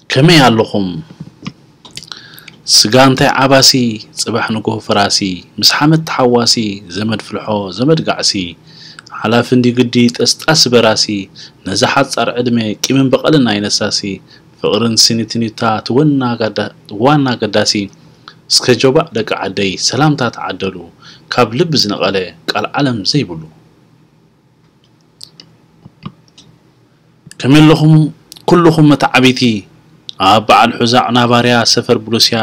ከመይ ኣለኹም? ስጋ እንታይ ዓባሲ፣ ጽባሕ ንግሆ ፈራሲ፣ ምስ ሓመድ ተሓዋሲ፣ ዘመድ ፍልሖ፣ ዘመድ ጋዕሲ፣ ሓላፊ እንዲ ግዲ ጠስጣሲ በራሲ፣ ነዛ ሓጻር ዕድመ ቂምን በቐልን ኣይነሳሲ፣ ፍቕርን ስኒትኒታ ትወና ጋዳ-፣ ዋና ገዳሲ፣ እስከ ጆባእ ደቂ ዓደይ ሰላምታ ተዓደሉ፣ ካብ ልቢ ዝነቐለ ቃል ዓለም ዘይብሉ። ከመይ ኣለኹም ኩልኹም መተዓቢቲ፣ ኣብ በዓል ሑዛዕ ናባርያ ሰፈር ብሉስያ፣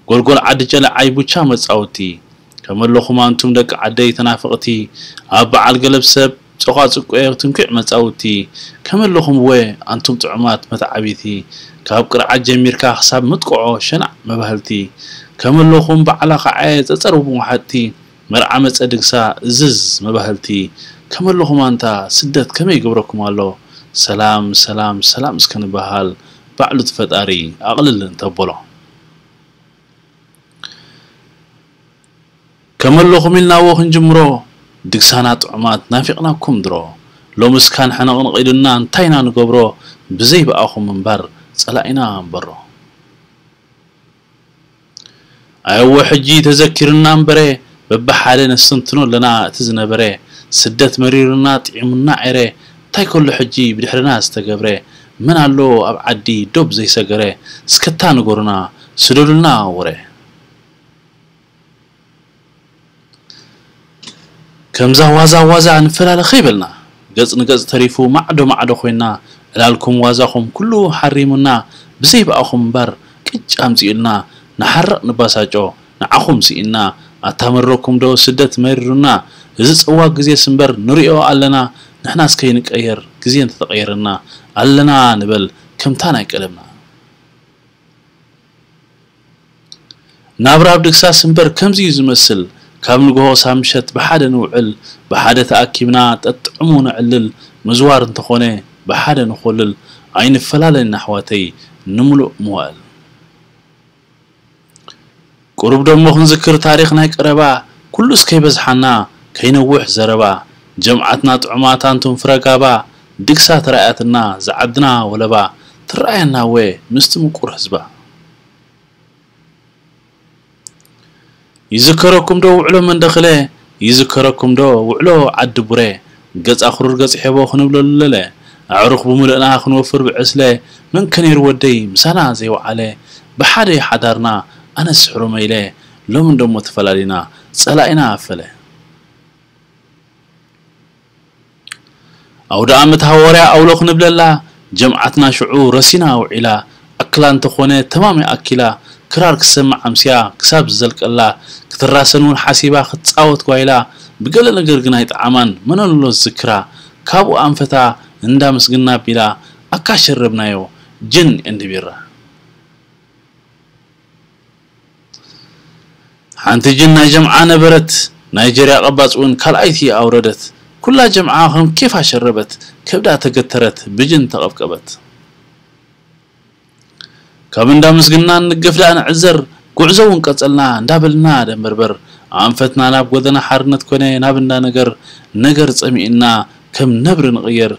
ጎልጎል ዓዲ ጨለዓይ ቡቻ መጻውቲ። ከመይ ኣለኹም ኣንቱም ደቂ ዓደይ ተናፈቕቲ፣ ኣብ በዓል ገለብ ሰብ ጾቓ ጽቁኤ ትንኩዕ መጻውቲ። ከመይ ኣለኹም ወ ኣንቱም ጥዑማት መተዓቢቲ፣ ካብ ቅርዓት ጀሚርካ ክሳብ ምጥቅዖ ሸናዕ መባህልቲ። ከመይ ኣለኹም በዓላ ኸዓየ ጸጸር ወሓጥቲ፣ መርዓ መጸ ድግሳ እዝዝ መባህልቲ። ከመይ ኣለኹም ኣንታ ስደት ከመይ ይገብረኩም ኣሎ? ሰላም ሰላም ሰላም እስከ ንበሃል፣ ባዕሉ እቲ ፈጣሪ ኣቕልል እንተበሎ። ከመይ ኣለኹም ኢልናዎ ክንጅምሮ፣ ድግሳና ጥዑማት ናፊቕናኩም ድሮ። ሎምስ ካን ሕንቕንቕ ኢሉና እንታይ ኢና ንገብሮ፣ ብዘይ ብኣኹም እምበር ጸላኢና እምበሮ። ኣየወ ሕጂ ተዘኪርና እምበረ፣ በብሓደ ነስተንትኖ ኣለና እቲ ዝነበረ። ስደት መሪሩና ጥዒሙና ዔረ፣ እንታይ ከሎ ሕጂ ብድሕርና ዝተገብረ። መን ኣሎ ኣብ ዓዲ ዶብ ዘይሰገረ፣ እስከታ ንገሩና ስደዱልና ወረ። ከምዛ ዋዛ ዋዛ ንፈላለ ከይበልና፣ ገጽ ንገጽ ተሪፉ ማዕዶ ማዕዶ ኮይና፣ ዕላልኩም ዋዛኹም ኩሉ ሓሪሙና፣ ብዘይ ብኣኹም እምበር ቅጭ ኣምጺኡልና፣ ንሓርቕ ንባሳጮ ንዓኹም ስኢንና። ኣታ መረኩም ዶ ስደት መሪሩና፣ እዚ ጸዋግ ግዜስ እምበር ንሪኦ ኣለና። ንሕናስ ከይንቀየር ግዜ እንተተቐየረና፣ ኣለና ንበል ከምታ ናይ ቀደምና። ናብራ ኣብ ድግሳስ እምበር ከምዚ እዩ ዝመስል። ካብ ንግሆ ክሳብ ምሸት ብሓደ ንውዕል፣ ብሓደ ተኣኪብና ጠጥዕሙ ነዕልል። ምዝዋር እንተኾነ ብሓደ ንኾልል፣ ኣይንፈላለን ኣሕዋተይ ንምሉእ መዋእል። ቁሩብ ደሞ ክንዝክር ታሪኽ ናይ ቀረባ፣ ኩሉስ ከይበዝሓና ከይነውሕ ዘረባ። ጀምዓትና ጥዑማት ኣንቱም ፍረ ጋባ፣ ድግሳ ተራእያትና ዝዓድና ወለባ፣ ትረኣየና ወ ምስቲ ምቁር ህዝባ። ይዝከረኩም ዶ ውዕሎ መንደኽለ? ይዝከረኩም ዶ ውዕሎ ዓዲ ቡሬ? ገጽ ኣኽሩር ገጽ ሔቦ ክንብለሉ ለለ። ኣዕሩኽ ብምልእና ክንወፍር ብዕስለ። መን ከ ነይሩ ወደይ ምሳና ዘይወዓለ? ብሓደ ሓዳርና ኣነስ ሕሩመ ኢለ። ሎሚ እንደሞ ተፈላሊና ጸላኢና ኣፈለ። ኣውደ ኣመት ሃዋርያ ኣውሎ ክንብለላ፣ ጀምዓትና ሽዑ ረሲና ውዒላ። ኣክላ እንተኾነ ተማም ኣኪላ፣ ክራር ክሰምዕ ኣምስያ ክሳብ ዝዘልቀላ፣ ክትራሰን እውን ሓሲባ ክትጻወት ጓይላ። ብገለ ነገር ግን ኣይጠዓማን፣ መን ኣሎ ዝዝክራ? ካብኡ ኣንፈታ እንዳ ምስግና ኣቢላ፣ ኣካ ሸረብናዮ ጅን ኤንድ ቢራ። ሓንቲ ጅን ናይ ጀምዓ ነበረት፣ ናይጀርያ ቀባጽ እውን ካልኣይቲ ኣውረደት። ኩላ ጀምዓ ከም ኬፋ ሸረበት፣ ከብዳ ተገተረት፣ ብጅን ተቐብቀበት። ካብ እንዳ ምስግና ንገፍ ደኣ ንዕዘር፣ ጉዕዞ እውን ቀጸልና እንዳበልና ደንበርበር። ኣንፈትና ናብ ጎደና ሓርነት ኮነ፣ ናብ እንዳ ነገር፣ ነገር ጸሚእና ከም ነብሪ ንቕየር።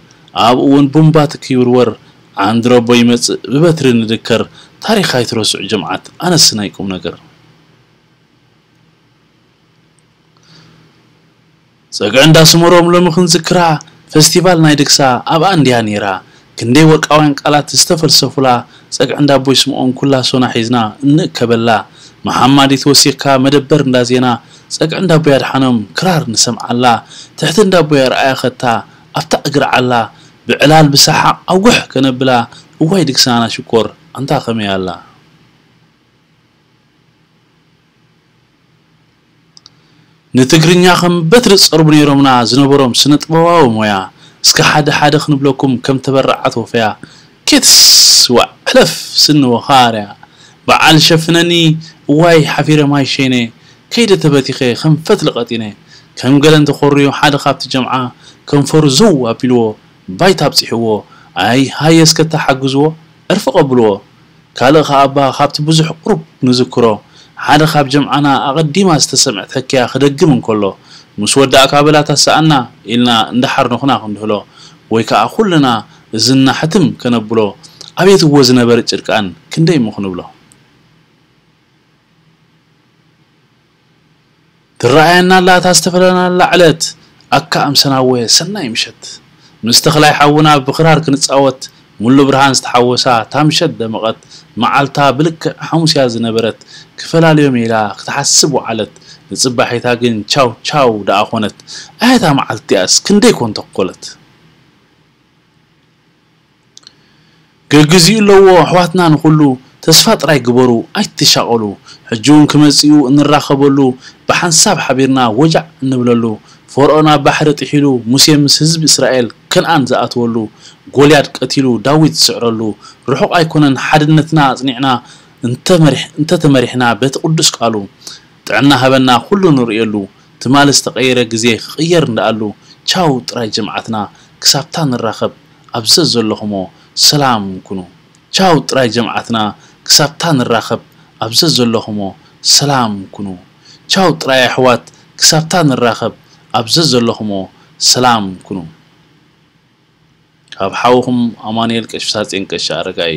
ኣብኡ እውን ቡምባ ትኪ ይውርወር፣ ዓንድረቦ ይመጽእ ብበትሪ ንድከር። ታሪኽ ኣይትረስዑ ጀምዓት፣ ኣነስ ናይ ቁም ነገር። ጸግዒ እንዳ ስመሮም ሎሚ ክንዝክራ፣ ፈስቲቫል ናይ ድግሳ ኣብኣ እንድያ ነይራ። ክንደይ ወርቃውያን ቃላት ዝተፈልሰፉላ፣ ጸግዒ እንዳቦይ ስምኦን ኩላ ሶና ሒዝና እንእከበላ። መሓማዲት ወሲኽካ መደበር እንዳ ዜና፣ ጸግዒ እንዳቦይ ኣድሓኖም ክራር ንሰምዓላ። ትሕቲ እንዳቦይ ኣርኣያ ኸታ ኣብታ እግሪ ዓላ፣ ብዕላል ብሰሓቕ ኣውግሕ ከነብላ። እዋይ ድግሳና ሽኮር ኣንታ ከመይ ኣላ። ንትግርኛ ከም በትሪ ዝጸርቡ ነይሮምና ዝነበሮም ስነ ጥበባዊ ሞያ። እስከ ሓደ ሓደ ክንብለኩም ከም ተበራዓት ወፈያ። ኬትስ ዋዕ ሕለፍ ስኒ ወኻርያ። በዓል ሸፍነኒ እዋይ ሓፊረ ማይ ሸይነ። ከይደ ተበቲኸ ከም ፈትሊ ቀጢነ። ከም ገለ እንተኾርዩ ሓደ ካብቲ ጀምዓ ከንፈሩ ዘው ኣቢልዎ ባይታ ኣብጺሕዎ። ኣይ ሃየ እስከ ተሓግዝዎ ዕርፊ ቀብልዎ። ካልእ ኸኣ እባ ካብቲ ብዙሕ ቁሩብ ንዝክሮ፣ ሓደ ካብ ጀምዓና ኣቐዲማ ዝተሰምዐት ሕክያ ክደግም እንከሎ፣ ምስ ወዳእካ በላ ታስኣና ኢልና እንዳሓርነኹና ክንድህሎ፣ ወይ ከኣ ኩልና እዝንና ሕትም ከነብሎ፣ ኣቤት እዎ ዝነበረ ጭርቃን ክንደይ እሞ ክንብሎ። ትረኣየና ኣላ እታ ዝተፈለናላ ዕለት፣ ኣካ ኣምሰናወ ሰናይ ምሸት። ምስ ተኽላይ ሓውና ብኽራር ክንጻወት፣ ሙሉ ብርሃን ዝተሓወሳ እታ ምሸት ደመቐት። መዓልታ ብልክዕ ሓሙስ እያ ዝነበረት፣ ክፈላልዮም ኢላ ክትሓስብ ወዓለት። ንጽባሒታ ግን ቻው ቻው ደኣ ኾነት። ኣየታ መዓልቲ እያስ ክንደይ ኮን ተኮለት። ገግዚኡ ኣለዎ ኣሕዋትና ንኹሉ፣ ተስፋ ጥራይ ግበሩ ኣይትሻቐሉ። ሕጂ እውን ክመጽኡ እንራኸበሉ፣ ብሓንሳብ ሓቢርና ወጃዕ እንብለሉ። ፈርዖን ኣብ ባሕሪ ጥሒሉ፣ ሙሴ ምስ ህዝቢ እስራኤል ከንኣን ዝኣትወሉ፣ ጎልያድ ቀቲሉ ዳዊት ዝስዕረሉ። ርሑቕ ኣይኮነን ሓድነትና ኣጽኒዕና፣ እንተመሪሕ-፣ እንተተመሪሕና በቲ ቅዱስ ቃሉ። ጥዕና ሃበና ኩሉ ንርእየሉ። ትማሊ ዝተቐየረ ግዜ ክቕየር እንዳኣሉ። ቻው ጥራይ ጀምዓትና ክሳብታ ንራኸብ ኣብ ዘዘለኹሞ ሰላም ኩኑ። ቻው ጥራይ ጀምዓትና ክሳብታ ንራኸብ ኣብ ዘዘለኹሞ ሰላም ኩኑ። ቻው ጥራይ ኣሕዋት ክሳብታ ንራኸብ ኣብ ዘዘለኹሞ ሰላም ኩኑ። ካብ ሓውኹም ኣማኑኤል ቀሺ ሳጼን ቀሺ ኣረጋይ።